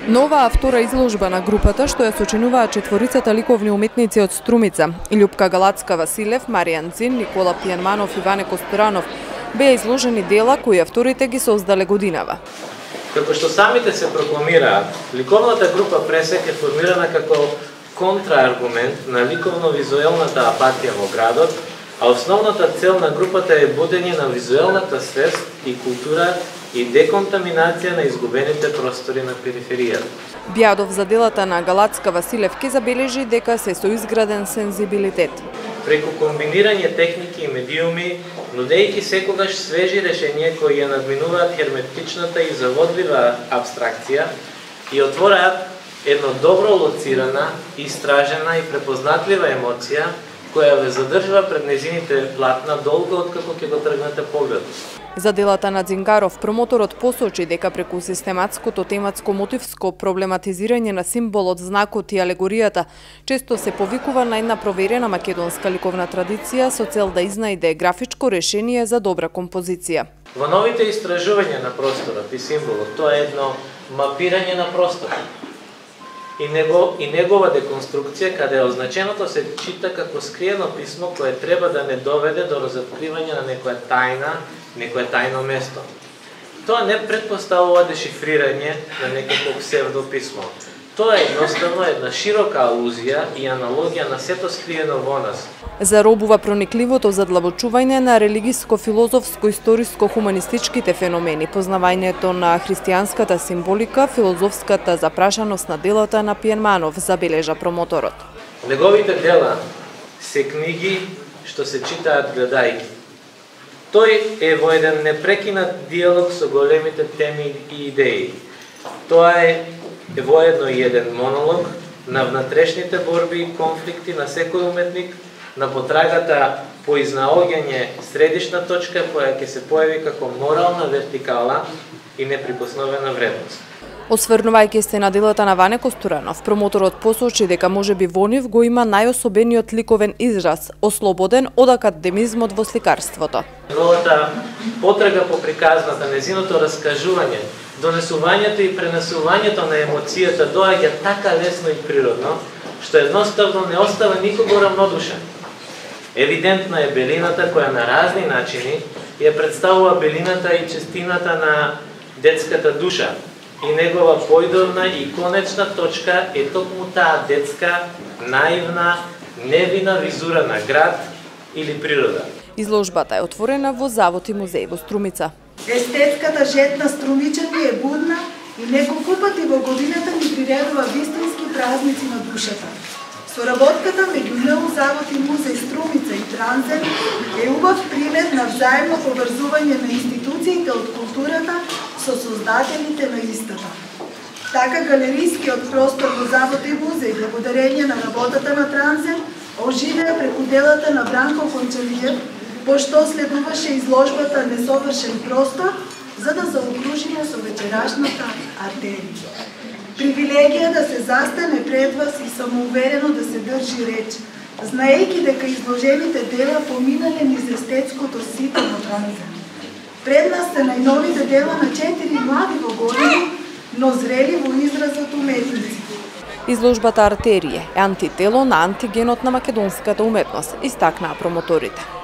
Новаа втора изложба на групата што ја сочинуваат четворицата ликовни уметници од Струмица – Љупка Галацка-Василев, Маријан Дзин, Никола Пијанманов и Ване Костуранов – беа изложени дела кои авторите ги создале годинава. Како што самите се прокламираат, ликовната група Пресек е формирана како контрааргумент на ликовно-визуелната апатија во градот, а основната цел на групата е будење на визуелната свест и култура и деконтаминација на изгубените простори на периферијата. Бјадов за делата на Галацка-Василев ке забележи дека се соизграден сензибилитет. Преку комбинирање техники и медиуми, нудејќи секогаш свежи решенија кои ја надминуваат херметичната и заводлива абстракција и отвораат едно добро лоцирана, истражена и препознатлива емоција која ве задржува пред незините платна долго откако ќе го тргнете поглед. За делата на Дзингаров, промоторот посочи дека преку систематското тематско мотивско проблематизирање на символот, знакот и алегоријата, често се повикува на една проверена македонска ликовна традиција со цел да изнајде графичко решение за добра композиција. Во новите истражувања на просторот и символот, тоа е едно мапирање на просторот и негова деконструкција, каде означеното се чита како скриено писмо кое треба да не доведе до разоткривање на некое тајно место. Тоа не предпоставува дешифрирање на некакво псевдописмо. Тоа е едноставно една широка алузија и аналогија на сето скриено во нас. Заробува проникливото задлабочување на религиско-филозофско-историско-хуманистичките феномени, познавањето на христијанската символика, филозофската запрашаност на делата на Пијанманов, забележа промоторот. Неговите дела се книги што се читаат гледајќи. Тој е во еден непрекинат диалог со големите теми и идеи. Тоа е воедно и еден монолог на внатрешните борби и конфликти на секој уметник, на потрагата по изнаоѓање средишна точка која ќе се појави како морална вертикала и неприкосновена вредност. Осврнувајќи се на делата на Ване Костуранов, промоторот посочи дека можеби во нив го има најособениот ликовен израз, ослободен од академизмот во сликарството. Неговата потрага по приказната, незиното раскажување, донесувањето и пренесувањето на емоцијата доаѓа така лесно и природно, што едноставно не остава никого равнодушен. Евидентна е белината која на разни начини ја представува белината и честината на детската душа и негова појдовна и конечна точка е токму таа детска, наивна, невина визура на град или природа. Изложбата е отворена во Завод и музеј во Струмица. Естетската жетна струмичани е будна и неколку пати во годината ни приредува вистински празници на душата. Соработката меѓу НУ Завод и музеј Струмица и Транзен е убав пример на взаимно поврзување на институциите од културата со создателите на истата. Така галерискиот простор во Завод и музеј, благодарење на работата на Транзен, оживеа преку делата на Бранко Кончалиев, пошто следуваше изложбата Несовршен простор, за да заокружиме со вечерашната артерија. Привилегија да се застане пред вас и самоуверено да се држи реч, знаејќи дека изложените дела поминале низ естетското сито на Транзен. Пред нас се најновите дела на 4 млади во години, но зрели во изразот уметници. Изложбата Артерије е антитело на антигенот на македонската уметност, истакнаа промоторите.